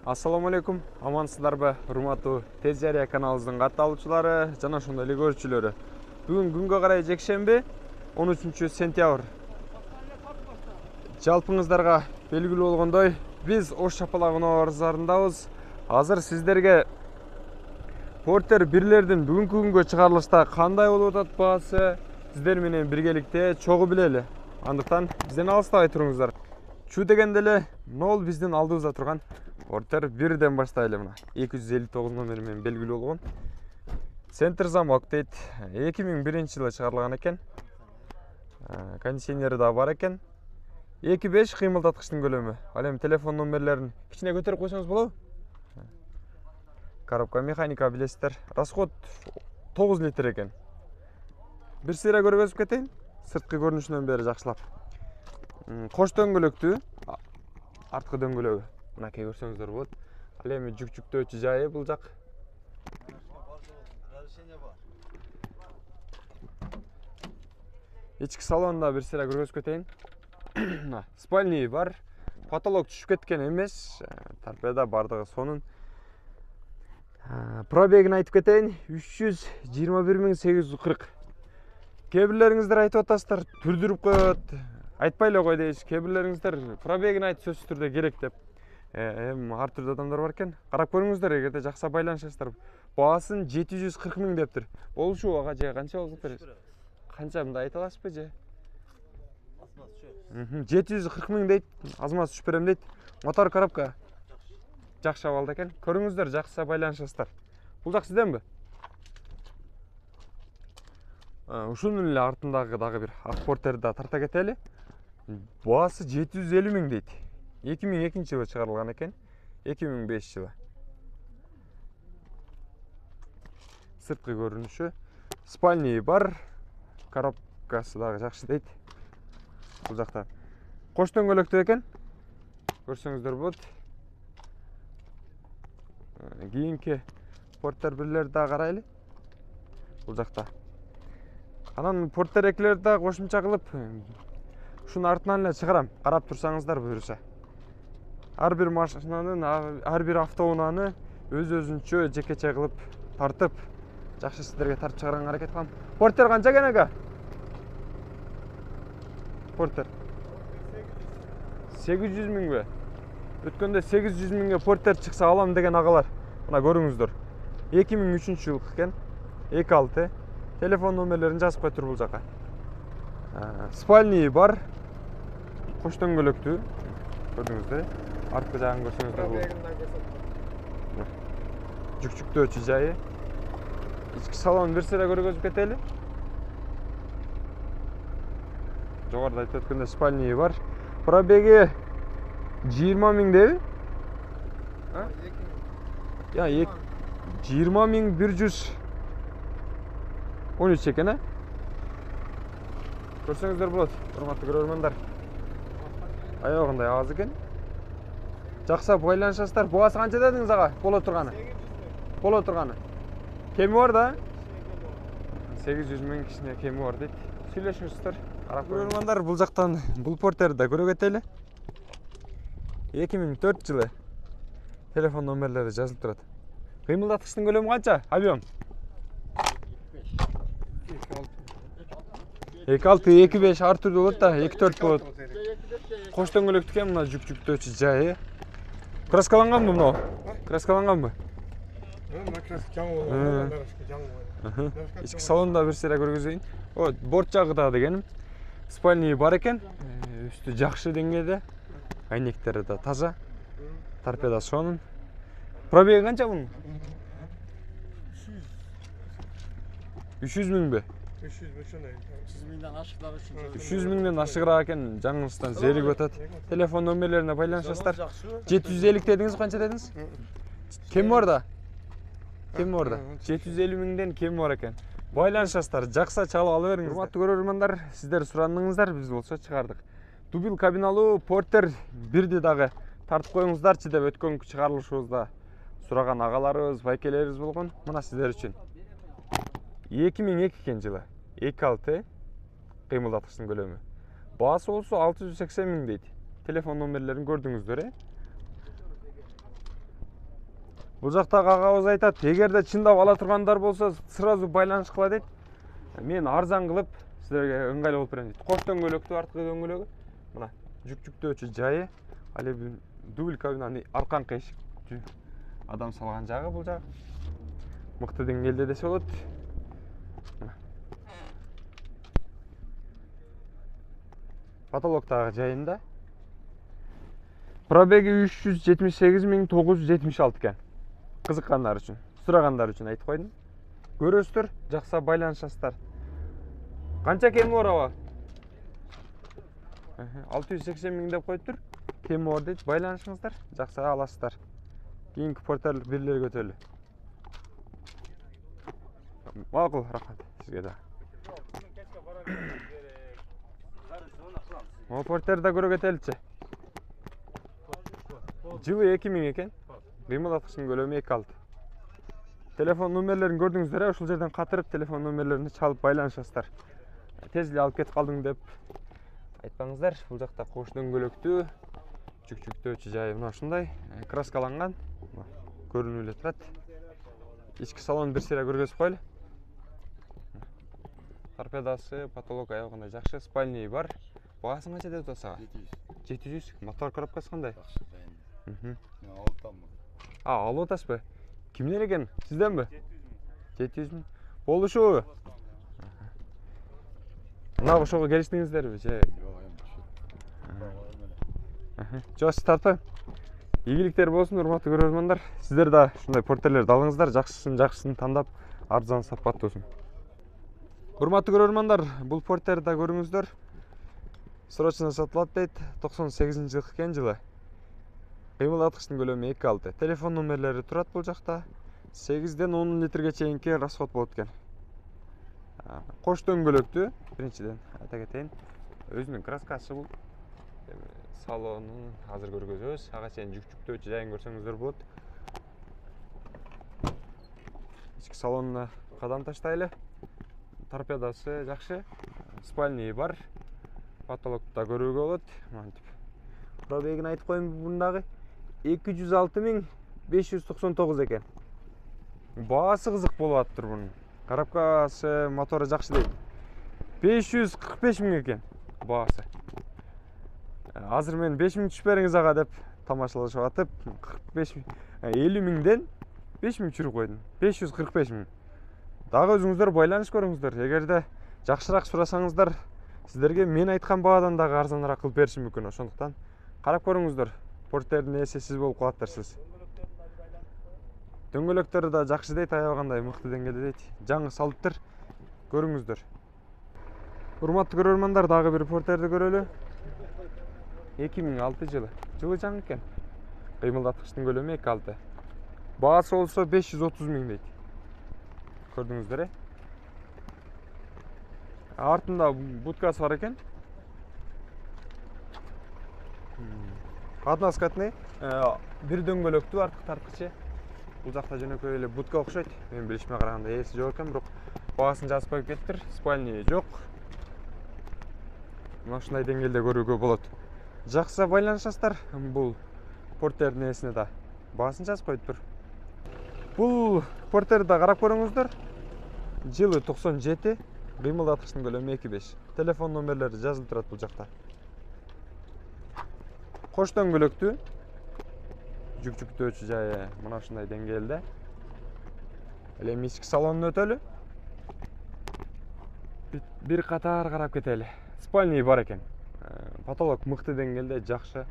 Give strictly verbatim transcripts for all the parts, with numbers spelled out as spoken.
Assalamu alaikum, амансыздарбы, урматтуу Тез Жарыя каналыбыздын катталуучулары жана ошондой эле көрүүчүлөрү. Бүгүн күнгө карай жекшемби, он үчүнчү сентябрь. Жалпыңыздарга белгилүү болгондой, биз Ош Чапалак базарындабыз. Азыр сиздерге Porter бирлердин бүгүнкү күнгө чыгарылышта кандай болуп атат баасы сиздер менен биргеликте чогуу билели. Андыктан бизден алыстабай туруңуздар. Чу дегенде эле нол биздин алдыбызда турган Porter бирден баштайлы мына. эки жүз элүү тогуз номери менен белгилүү болгон. Центр замок дейт. эки миң биринчи жылы чыгарылган экен. Кондиционери да бар экен. эки беш кыймылдаткычтын көлөмү. Ал эми телефон номерлерин кичине көтөрүп койсоңуз болобу? Коробка механика билесиздер. Расход тогуз литр экен. Бир сыйра көргөзүп кетейин. Сырткы көрүнүшүнөн бери жакшылап. Кош дөңгөлөктүү. Арткы дөңгөлөгү. Мынакей көрсөңүздөр болот. Ал эми жүк жүктөөчү жайы бул жак. Ички салонда бир сыйра көргөзүп кетейин. Спальный бар. Потолок түшүп кеткен эмес. Торпеда бардыгы сонун. Пробегин айтып кетейин. үч жүз жыйырма бир миң сегиз жүз кырк. Кээ бирлериңиздер айтып атасыздар, түрдүрүп коет. Айтпай эле кой дейсиз. Кээ бирлериңиздер пробегин айт, сөзсүз түрдө керек деп. Эми ар түрдүү адамдар бар экен. Карап көрүңүздөр, эгерде жакса байланышасыздар. Баасын жети жүз кырк миң дептир. Болушубу ага же канча болуптур? Канча мындай айта аласызбы же? жети жүз кырк миң дейт. Азмаз түшүп берем дейт. Мотор коробка жакшы абалда экен. Көрүңүздөр, жакса байланышасыздар. Бул жак сизденби? Ушунун эле артындагы дагы бир ак Porterди да тарта кетели. Баасы жети жүз элүү миң дейт. эки миң экинчи жылы чыгарылган экен. эки миң бешинчи жылы. Сырткы көрүнүшү. Спальный бар. Коробкасы дагы жакшы дейт. Бул жакта кош дөңгөлөктүү экен. Көрсөңүздөр болот. Кийинки Porter бирлерди да карайлы. Бул жакта. Анан Porter экилерди да кошумча кылып, ушунун артынан эле чыгарам. Карап турсаңыздар буюрса. Ар бир машинанын, ар бир автоунааны өз-өзүнчө жекече кылып тартып, жакшы сиздерге тартып чыгарганга аракет кылам. Porter канча экен ага? Porter сегиз жүз миңби? Өткөндө сегиз жүз миңге Porter чыкса алам деген агалар. Мына көрүңүздөр. эки миң үчүнчү жылкы экен. эки алты. Телефон номерлерин жазып койтур бул жака. Спальный бар. Кош дөңгөлөктүү. Көрдүңүздөр. Арткы жагын көрсөңүздөр болот. Жүк жүктөөчү жайы. Ички салон бир сыйра көргөзүп кетели. Жогоруда айтып өткөндөй спальный бар. Пробеги жыйырма миң деби? Я, жыйырма миң бир жүз он үч экен, э? Көрсөңүздөр болот, урматтуу көрөрмандар. Аягындай аз экен. Жакса байланышасыздар. Баасы канча дедиңиз ага? Боло турганы. Боло турганы. Кеми бар да? сегиз жүз миң кичине кеми бар дейт. Сүйлөшүңүздөр. Карап көрөрмандар, бул жактан бул Porterди да көрө кетели. эки миң төртүнчү жылы. Телефон номерлери жазылып турат. Кыймылдаткычтын көлөмү канча? Объем. эки алты, эки беш ар түрдүү болот да, эки төрт болот. Кош дөңгөлөктүү экен, мына жүк жүктөөчү жайы. Краскаланганбы мынау? Краскаланганбы? Ички салонда бир сыйра көргөзөйүн. О, борт жагы да дегеним. Спальный бар экен. Үстү жакшы деңгээлде. Айнектери да таза. Торпеда сонун. Пробеги канча бунун? үч жүз миңби? үч жүз миңден ашыгыраак экен, жаңыңыздан зеригип атат. Телефон номерлерине байланышасыздар. жети жүз элүү дедиңиз, канча дедиңиз? Кем бар да? Кем бар да? жети жүз элүү миңден кем бар экен. Байланышасыздар, жакса чалып ала бериңиз. Урматтуу көрөрмандар, сиздер сурандыңыздар, биз болсо чыгардык. Дубил кабиналуу Porter бирди дагы тартып коюңуздарчы деп өткөнкү чыгарылышыбызда сураган агаларыбыз, байкелерибиз болгон. Мына сиздер үчүн. эки миң экинчи жылы. эки алты кыймылдаткычтын көлөмү. Баасы болсо алты жүз сексен миң дейт. Телефон номерлерин көрдүңүздөр, э? Бул жактагы агабыз айтат, эгерде чындап ала тургандар болсо, сразу байланыш кыла дейт. Мен арзан кылып силерге ыңгайлуу болуп берем дейт. Кош дөңгөлөктүү арткы дөңгөлөгү. Мына жүк жүктөөчү жайы, ал эми дубль кабина, арканкы эшик. Адам салган жагы бул жагы. Мыкты деңгээлде десе болот. Потолоктагы жайында. Пробеги үч жүз жетимиш сегиз миң тогуз жүз жетимиш алты экен. Кызыккандар үчүн, сурагандар үчүн айтып койдум. Көрөсүздөр, жакса байланышасыздар. Канча кеми бар аба? алты жүз сексен миң деп коюптур. Кеми бар дейт, байланышыңыздар, жакса аласыздар. Кийинки портерлик бирлер көтөлү. Макул, рахмат сизге да. О, портерде көрө кетеличи. Жылы эки миң экен. Кыймылдаткычтын көлөмү эки алты. Телефон номерлерин көрдүңүздөр, ушул жерден катырып телефон номерлерин чалып байланышасыздар. Тез эле алып кетип калдың деп айтпаңыздар. Бул жакта кош дөңгөлөктүү, жүк жүктөөчү жайы мына ушундай, краскаланган. Көрүнүп эле турат. Ички салон бир сыйра көргөзүп коелу. Торпедасы, потолок аябагандай жакшы, спальный бар. Баасын канча деп атасага? жети жүз. Мотор коробкасы кандай? Мен алып атаммын. А, алып атасызбы? Кимден экен? Сизденби? жети жүз миң. Болушубу? Мына ошого келиштиңиздерби же? Жок, сиз тартпайм. Ийгиликтер болсун, урматтуу көрөрмандар. Сиздер да ушундай портерлерди алыңыздар, жакшысын жакшысын тандап, арзан сапаттуусун. Урматтуу көрөрмандар, бул портерди да көрүңүздөр. Срочно сатылат дейт, токсон сегизинчи жылкы экен жылы. Кыймылдаткычтын көлөмү эки алты. Телефон номерлери турат бул жакта. сегизден он литрге чейинки расход болот экен. Кош дөңгөлөктүү, биринчиден айта кетейин. Өзүнүн краскасы бул. Салонун азыр көргөзөбүз. Ага чейин жүк жүктөөчү жайын көрсөңүздөр болот. Ички салонуна кадам таштайлы. Торпедасы жакшы. Спальный бар. Потолокто көрүүгө болот. Мынтип. Пробегин айтып коеюн бундагы эки жүз алты миң беш жүз токсон тогуз экен. Баасы кызык болуп атыптыр бунун. Коробкасы, мотору жакшы дейт. беш жүз кырк беш миң экен баасы. Азыр мен беш миң түшүп бериңиз ага деп тамашалашып атып, кырк беш миң, элүү миңден беш миң түшүрүп койдум. беш жүз кырк беш миң. Дагы өзүңүздөр байланыш көрүңүздөр. Эгерде жакшыраак сурасаңыздар, сиздерге мен айткан баадан дагы арзаныраак кылып беришим мүмкүн. Ошондуктан карап көрүңүздөр. Портердин ээси сиз болуп калаттырсыз. Дөңгөлөктөрү да жакшы дейт, аябагандай мыкты деңгээлде дейт. Жаңы салыптыр. Көрүңүздөр. Урматтуу көрөрмандар, дагы бир портерди көрөлү. эки миң алты жылы. Жылы жаңы экен. Кыймылдаткычтын көлөмү эки алты. Баасы болсо беш жүз отуз миң дейт. Көрдүңүздөр, э? Артында будкасы бар экен. Односкатный, бир дөңгөлөктүү арткы тарткычы. Бул жакта жөнөкөй эле будка окшойт. Мен билишиме караганда ээси жок экен, бирок баасын жазып коюп кетиптир. Спальный жок. Мына ушундай деңгээлде көрүүгө болот. Жакса байланышасыздар бул портердин ээсине да. Баасын жазып коюптур. Бул портерди да карап көрүңүздөр. Жылы токсон жети, кыймылдаткычтын көлөмү эки беш. Телефон номерлери жазылып турат бул жакта. Кош дөңгөлөктүү. Жүк жүктөөчү жайы мына ушундай деңгээлде. Эле ички салонун өтөлү. Бир катар карап кетели. Спальный бар экен. Потолок мыкты деңгээлде, жакшы.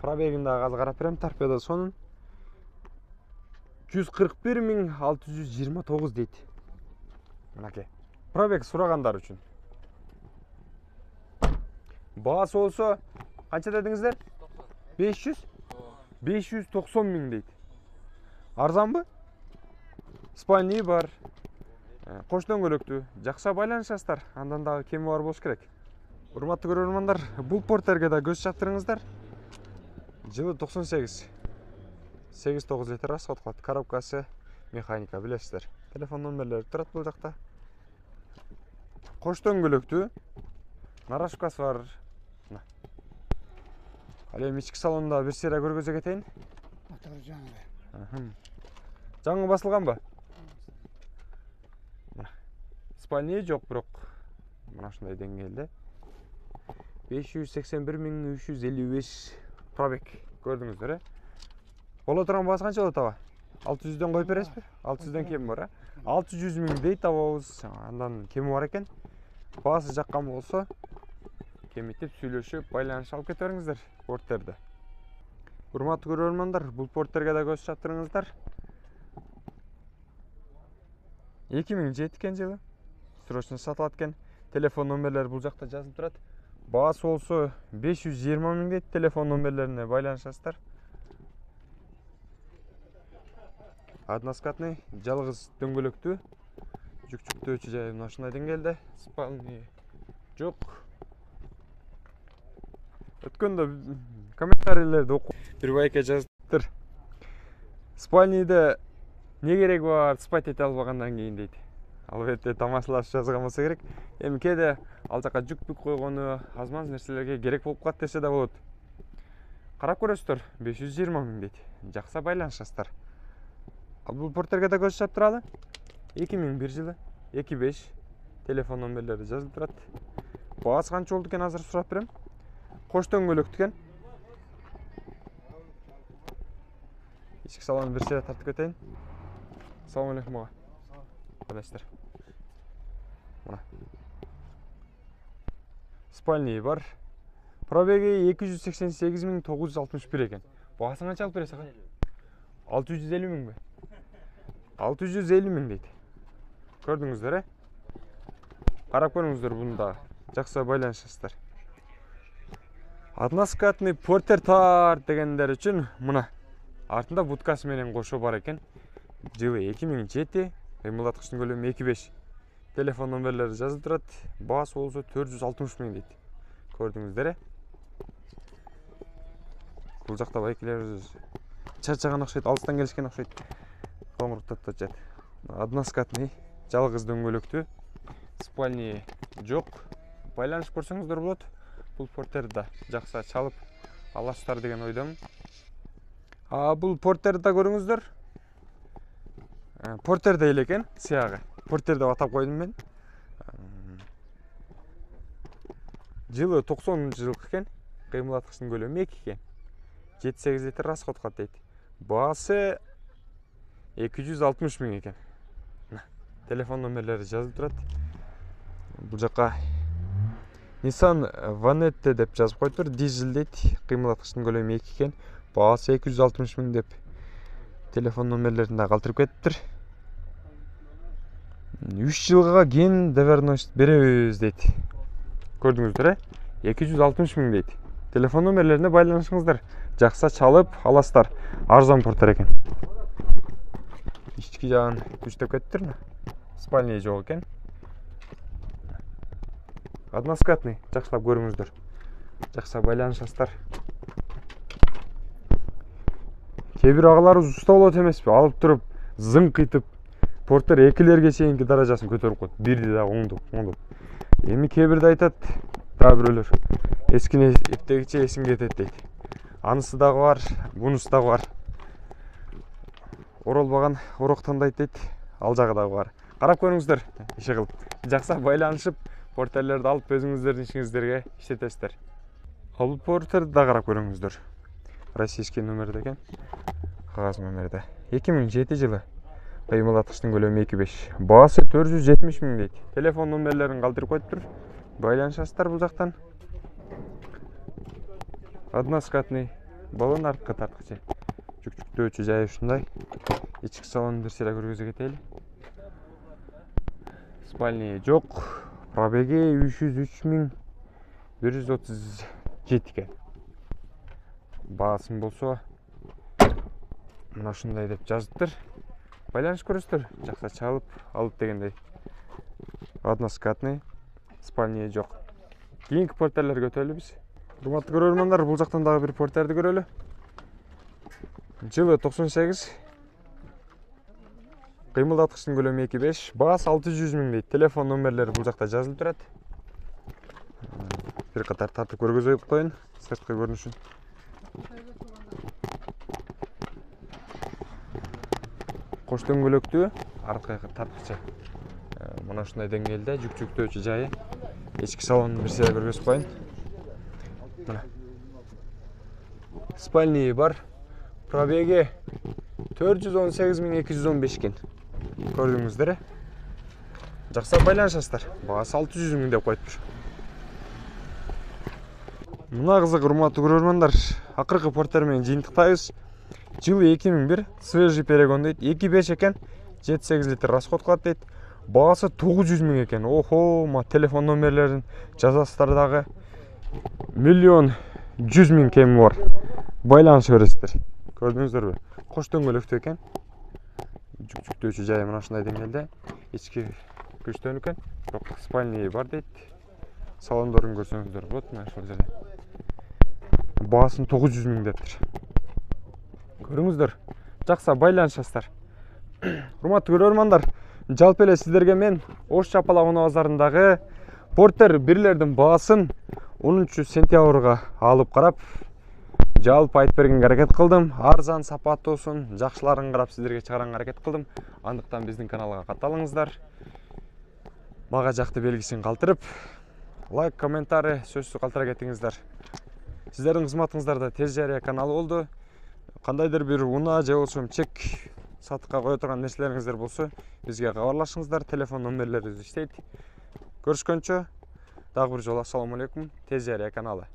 Пробегин дагы азыр карап берем. Торпеда сонун жүз кырк бир миң алты жүз жыйырма тогуз дейт. Мынакей. Пробег сурагандар үчүн. Баасы болсо канча дедиңиздер? беш жүз? беш жүз токсон миң дейт. Арзанбы? Спальный бар. Кош дөңгөлөктүү. Жакша байланышасыздар. Андан дагы кеми бар болуш керек. Урматтуу көрөрмандар, бул портерге да көз чаптырыңыздар. Жылы токсон сегиз. сегиз тогуз литр расход кылат. Коробкасы механика, билесиздер. Телефон номерлери турат бул жакта. Кош дөңгөлөктүү. Нарашкасы бар. Ал эми ички салонунда бир сыйра көргөзө кетейин. Мотор жаңы. Жаңы басылганбы? Спальня жок, бирок мына ушундай деңгээлде. беш жүз сексен бир миң үч жүз элүү беш пробег көрдүңүздөр, э? Боло турган баасы канча болот аба? алты жүздөн коюп бересизби? алты жүздөн кеми бар, э? алты жүз миң дейт абабыз. Андан кеми бар экен. Баасы жаккан болсо, кемитип сүйлөшүп, байланыш алып кете бериңиздер порттерде. Урматтуу көрөрмандар, бул порттерге да көз чаптырыңыздар. эки миң жети экен жылы. Срочно сатылат экен. Телефон номерлери бул жакта жазылып турат. Баасы болсо беш жүз жыйырма миң дейт. Телефон номерлерине байланышасыздар. Односкатный, жалгыз дөңгөлөктүү. Жүк-жүктөөчү жайы мына ушундай деңгээлде. Спальня жок. Өткөндө комментарийлерди окуп бир байке жазыптыр. Спальняда не керек бар, спать эте албагандан кийин дейт. Албетте тамашалаш жазган болсо керек. Эми кээде ал жака жүк-бүк койгону, аз-маз нерселерге керек болуп калат десе да болот. Карап көрөсүздөр, беш жүз жыйырма миң дейт. Жакса байланышасыздар. Ал бул порттерге да көз чаптыралы. эки миң бир жылы, эки беш телефон номерлери жазылып турат. Баасы канча болду экен азыр сурап берем. Кош дөңгөлөктүү экен. Ички салонун бир сыйра тартып кетейин. Салам алейкум ага. Кадайсыздар? Мына. Спальня бар. Пробеги эки жүз сексен сегиз миң тогуз жүз алтымыш бир экен. Баасын канча алып бересиз ага? алты жүз элүү миңби? алты жүз элүү миң дейт. Көрдүңүздөр, э? Карап көрүңүздөр буну да. Жакса байланышасыздар. Односкатный портер тар дегендер үчүн мына артында будкасы менен кошо бар экен. Жылы эки миң жети, кыймылдаткычтын көлөмү эки беш. Телефон номерлери жазылып турат. Баасы болсо төрт жүз алтымыш миң дейт. Көрдүңүздөр, э? Бул жакта байкелер чарчаган окшойт, алыстан келишкен окшойт. Коңуруктап атат. Односкатный, жалгыз дөңгөлөктүү. Спальня жок. Байланышып көрсөңүздөр болот. Бул порттерди жакса чалып аласыздар деген ойдомун. А бул порттерди көрүңүздөр. Порттерде эле экен, сыягы. Портер деп атап койдум мен. Жылы токсонунчу жылкы экен. Кыймылдаткычтын көлөмү эки экен. жети сегиз литр расход кылат дейт. Баасы эки жүз алтымыш миң экен. Телефон номерлери жазылып турат. Бул жака Nissan Vanette деп жазып коюптур. Дизель дейт. Кыймылдаткычтын көлөмү эки экен. Баасы эки жүз алтымыш миң деп телефон номерлерин да калтырып кетиптир. үч жылга ген доверенность беребиз дейт. Көрдүңүздөр, э? эки жүз алтымыш миң дейт. Телефон номерлерине байланышыңыздар. Жакса чалып аласыздар. Арзан порттер экен. Ички жагын күчтөп кетиптир. Спальня жок экен. Односкатный, жакшылап көрүңүздөр. Жакса байланышасыздар. Кээ бир агаларыбыз уста болот эмеспи? Алып туруп, зыңкыйтып, порттер экилерге чейинки даражасын көтөрүп коет. Бирди да оңдоп, оңдоп. Эми кээ бирде айтат, да бирөөлөр. Эскине эптегиче эсим кетет дейт. Анысы дагы бар, бунусы дагы бар. Оролбаган орок тандайт дейт. Ал жагы дагы бар. Карап көрүңүздөр, иши кылып. Жакса байланышып, портерлерди алып өзүңүздөрдүн ишиңиздерге иштетесиздер. Ал порттерди да карап көрүңүздөр. Российский номерде экен. Кагаз номерде. эки миң жети жылы. Кыймылдаткычтын көлөмү эки беш. Баасы төрт жүз жетимиш миң дейт. Телефон номерлерин калтырып коюптур. Байланышасыздар бул жактан. Односкатный баллон арткы тарткычы. Жүк-жүктөөчү жайы ушундай. Ички салонун бир сыйра көргөзө кетели. Спальня жок. Пробеги үч жүз үч миң бир жүз отуз жети экен. Баасын болсо мына ушундай деп жазыптыр. Байланыш көрөсүздөр. Жакса чалып алып дегендей. Односкатный, спальня жок. Кийинки порттерлерге өтөлү биз. Урматтуу көрөрмандар, бул жактан дагы бир порттерди көрөлү. Жылы токсон сегиз. Кыймылдаткычтын көлөмү эки беш. Баасы алты жүз миң дейт. Телефон номерлери бул жакта жазылып турат. Бир катар тартып көргөзө коюн, сырткы көрүнүшүн. кош дөңгөлөктүү, арткы тарткычы. Мына ушундай деңгээлде жүк жүктөөчү жайы. Ички салонун бир сыйра көргөзүп коеюн. Мына. Спальный бар. Пробеги төрт жүз он сегиз миң эки жүз он беш экен. Көрдүңүздөр. Жакса байланышасыздар. Баасы алты жүз миң деп коюптур. Мына кызык, урматтуу көрөрмандар, акыркы порттер менен жыйынтыктайбыз. Жылы эки миң бир, свежий перегон дейт, эки беш экен, жети сегиз литр расход кылат дейт. Баасы тогуз жүз миң экен. Охо, ма телефон номерлерин жазасыздар дагы. Миллион жүз миң кеми бар. Байланыша бересиздер. Көрдүңүздөрбү? Кош дөңгөлөктүү экен. Жүк жүктөөчү жайы мына ушундай деңгээлде. Ички күчтөн экен. Бирок спальный бар дейт. Салондорун көрсөңүздөр болот, мына ушул жерде. Баасын тогуз жүз миң дептир. Көрүңүздөр. Жакса байланышасыздар. Урматтуу көрөрмандар, жалпы эле сиздерге мен Ош Чапалак унаа базарындагы портер бирлердин баасын онунчу сентябрга алып карап, жалпы айтып бергенге аракет кылдым. Арзан, сапаттуусун, жакшыларын карап сиздерге чыгарганга аракет кылдым. Андыктан биздин каналга катталыңыздар. Мага жакты белгисин калтырып, лайк, комментарий сөзсүз калтыра кетиңиздер. Сиздердин кызматыңыздарда Тез жарыя каналы болду. Кандайдыр бир унаа же болбосо чек сатыкка кое турган нерселериңиздер болсо, бизге кабарлашыңыздар. Телефон номерлерибиз иштейт. Көрүшкөнчө, дагы бир жолу ассаламу алейкум. Тез жарыя каналы.